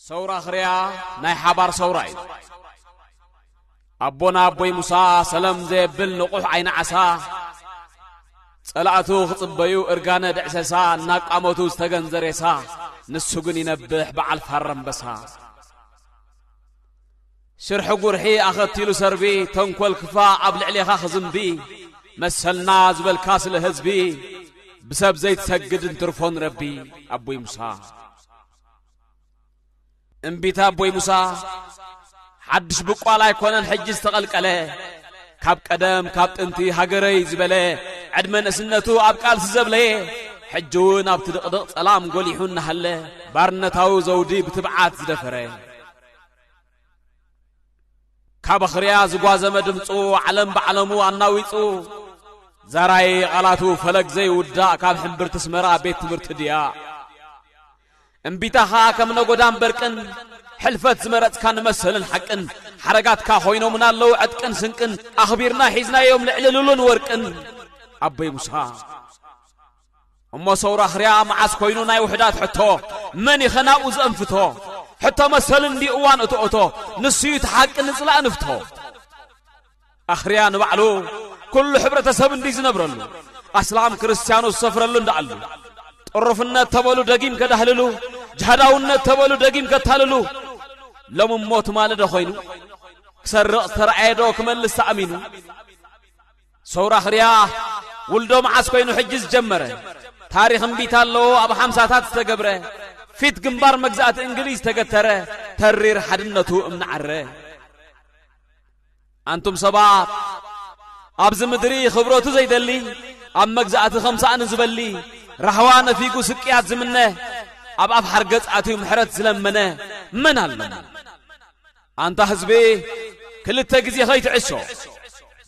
ሰውራ ኽርያ ናይ ሓባር ሰውራ እዩ። ኣቦና ኣቦይ ሙሳ ሰለም ዘየብል ንቑሕ ዓይኒ ዓሳ፣ ጸላእቱ ክጽበዩ እርጋነ ድዕሰሳ፣ እናቃመቱ ዝተገንዘ ሬሳ፣ ንሱ ግን ይነብሕ በዓል ፋረ ኣንበሳ። ሽርሒ ጉርሒ ኣኸቲሉ ሰርቢ፣ ተንኮል ክፋ ኣብ ልዕሌኻ ክዝንቢ፣ መሰልና ዝበልካ ስለ ህዝቢ፣ ብሰብ ዘይትሰግድ እንትርፎ ንረቢ። ኣቦይ ሙሳ እምቢታ ኣቦይ ሙሳ ሓድሽ ብቋል ኣይኮነን ሕጂ ዝተቐልቀለ፣ ካብ ቀደም ካብ ጥንቲ ሃገረይ ዝበለ፣ ዕድመ ንእስነቱ ኣብ ቃልሲ ዘብለየ፣ ሕጂ እውን ኣብቲ ድቕድቕ ጸላም ጎሊሑ እናሃለ፣ ባርነታዊ ዘውዲ ብትብዓት ዝደፈረ። ካብ ኣኽርያ ዝጓዘመ ድምፁ ዓለም ባዕለሙ ኣናዊፁ፣ ዛራይ ቓላቱ ፈለግ ዘይውዳእ ካብ ሕምብርቲ ኣስመራ ቤት ትምህርቲ ድያ። እምቢታ ኸኣ ከም ነጎዳን በርቅን፣ ሕልፈት ዝመረጽካ ንመሰልን ሓቅን፣ ሓረጋትካ ኮይኖምና ኣለዉ ዕጥቅን ስንቅን፣ ኣኽቢርና ሒዝናዮም ልዕሊ ሉልን ወርቅን። ኣቦይ ሙሳ እሞ ሰውራ ኽርያ መዓስ ኮይኑ ናይ ውሑዳት ሕቶ፣ መን ኢኸ ናብኡ ዘእንፍቶ? ሕቶ መሰልን እንዲ እዋን እቶ እቶ፣ ንሱ እዩ እቲ ሓቂ ንጽላእ ንፍቶ። ኣኽርያ ንባዕሉ ኩሉ ሕብረተሰብ እንዲ ዝነብረሉ፣ ኣስላም ክርስትያኑ ዝሰፍረሉ እንዳኣሉ፣ ጥሩፍነት ተበሉ ደጊም ከዳህልሉ፣ ጅሃዳውነት ተበሉ ደጊም ከታልሉ። ሎሚ እሞ ትማሊ ዶ ኮይኑ፣ ክሰርቕ ዝተረኣየ ዶ ክመልስ ተኣሚኑ? ሰውራ ኽርያ ውልዶ መዓስ ኮይኑ ሕጂ ዝጀመረ፣ ታሪኽ እምቢታ ኣለዎ ኣብ ሓምሳታት ዝተገብረ፣ ፊት ግንባር መግዛእቲ እንግሊዝ ተገተረ፣ ተሪር ሓድነቱ እምነዓረ። ኣንቱም ሰባት፣ ኣብዚ ምድሪ ኽብረቱ ዘይደሊ፣ ኣብ መግዛእቲ ኸም ሳእኒ ዝበሊ፣ ራህዋ ነፊጉ ስቅያት ዝምነ፣ ኣብ ኣፍ ሓርገጽ ኣትዩ ምሕረት ዝለመነ መን ኣሎ? ኣንታ ህዝቢ፣ ክልተ ግዜ ኸይትዕሾ፣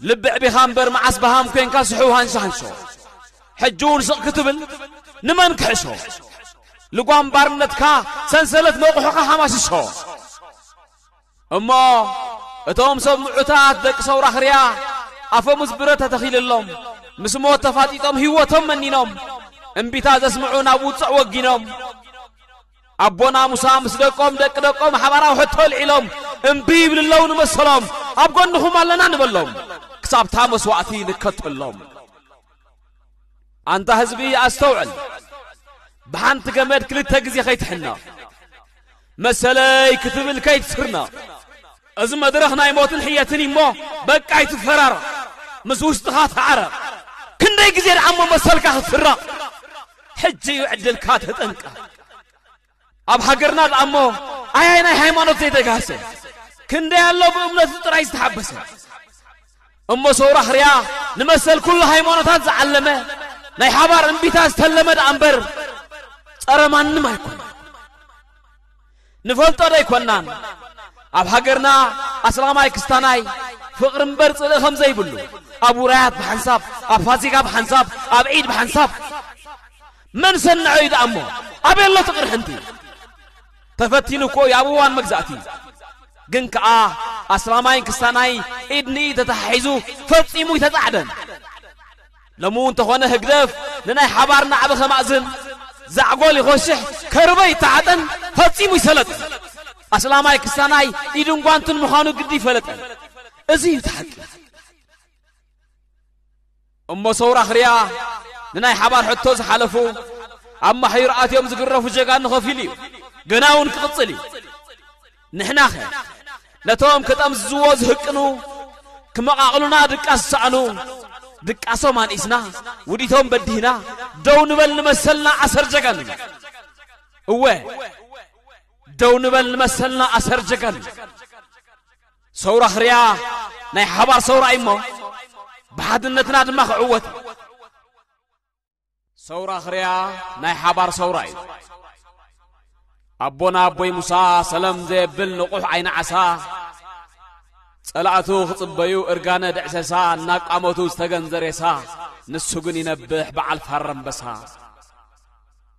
ልቢ ዕቢኻ እምበር መዓስ በሃም ኮንካ ስሑው ሃንሾ ሃንሾ። ሕጂ እውን ስቕ ክትብል ንመን ክሕሾ? ልጓም ባርነትካ ሰንሰለት መቑሑኻ ሃማሽሾ። እሞ እቶም ሰብ ምዑታት ደቂ ሰውራ ኽርያ ኣፈሙዝ ብረት ተተኺልሎም፣ ምስ ሞት ተፋጢጦም ህይወቶም መኒኖም፣ እምቢታ ዘስምዑ ናብ ውጽዕ ወጊኖም። ኣቦና ሙሳ ምስ ደቆም ደቂ ደቆም ሓባራዊ ሕቶ ኣልዒሎም፣ እምቢ ይብሉ ኣለዉ ንመሰሎም፣ ኣብ ጎንኹም ኣለና ንበሎም፣ ክሳብታ መስዋእቲ ንከተሎም። ኣንታ ህዝቢ ኣስተውዕል፣ ብሓንቲ ገመድ ክልተ ግዜ ኸይትሕነቕ፣ መሰለይ ክትብል ከይትስርነቕ። እዚ መድረኽ ናይ ሞትን ሕየትን እሞ በቃ ኣይትፈራረቕ፣ ምስ ውሽጥኻ ተዓረቕ። ክንደይ ግዜ ደኣ እሞ መሰልካ ክትስረቕ? ሕጂ እዩ ዕድልካ ተጠንቀቕ። ኣብ ሃገርና ደኣ እሞ ኣያይ ናይ ሃይማኖት ዘይተጋህሰ፣ ክንደይ ኣሎ ብእምነቱ ጥራይ ዝተሓበሰ። እሞ ሰውራ ኽርያ ንመሰል ኩሉ ሃይማኖታት ዝዓለመ፣ ናይ ሓባር እምቢታ ዝተለመ ደኣ እምበር ጸረ ማንም ኣይኮነ። ንፈልጦ ዶ ኣይኮናን? ኣብ ሃገርና ኣስላማይ ክስታናይ ፍቕሪ እምበር ጽልኢ ከም ዘይብሉ፣ ኣብ ውራያት ብሓንሳብ፣ ኣብ ፋሲካ ብሓንሳብ፣ ኣብ ዒድ ብሓንሳብ። መን ሰንዖ እዩ ደኣ እሞ? ኣበይ ኣሎ እቲ ቅርሕንቲ? ተፈቲኑ እኮ እዩ ኣብ እዋን መግዛእቲ። ግን ከኣ ኣስላማይን ክስታናይ ኢድ ንኢድ ተተሓሒዙ ፈጺሙ ኣይተጻዕደን። ሎሚ እውን እንተኾነ ህግደፍ ንናይ ሓባር ናዕቢ ከማእዝን፣ ዛዕጎል ይኾሽሕ፣ ከርበ ይተዓጠን፣ ፈጺሙ ይሰለጥን። ኣስላማይ ክስታናይ ኢድን ጓንትን ምዃኑ ግዲ ይፈለጠን። እዚ እዩ እቲ ሓቂ። እሞ ሰውራ ኽርያ ንናይ ሓባር ሕቶ ዝሓለፉ፣ ኣብ ማሕዩር ኣትዮም ዝግረፉ ጀጋኑ ከፊሉ እዩ። ገና እውን ክቕጽል እዩ። ንሕናኸ ነቶም ክጠምዝዝዎ ዝህቅኑ፣ ክመቓቕሉና ድቃስ ዝሰኣኑ፣ ድቃሶም ኣንኢስና፣ ውዲቶም በዲህና፣ ደው ንበል ንመሰልና ኣሰር ጀጋኑ። እወ፣ ደው ንበል ንመሰልና ኣሰር ጀጋኑ። ሰውራ ኽርያ ናይ ሓባር ሰውራ እዩ እሞ፣ ብሓድነትና ድማ ክዕወት። ሰውራ ኽርያ ናይ ሓባር ሰውራ እዩ። ኣቦና ኣቦይ ሙሳ ሰለም ዘየብል ንቑሕ ዓይኒ ዓሳ፣ ጸላእቱ ክጽበዩ እርጋነ ድዕሰሳ፣ እናቃመቱ ዝተገንዘ ሬሳ፣ ንሱ ግን ይነብሕ በዓል ፋረ ኣንበሳ።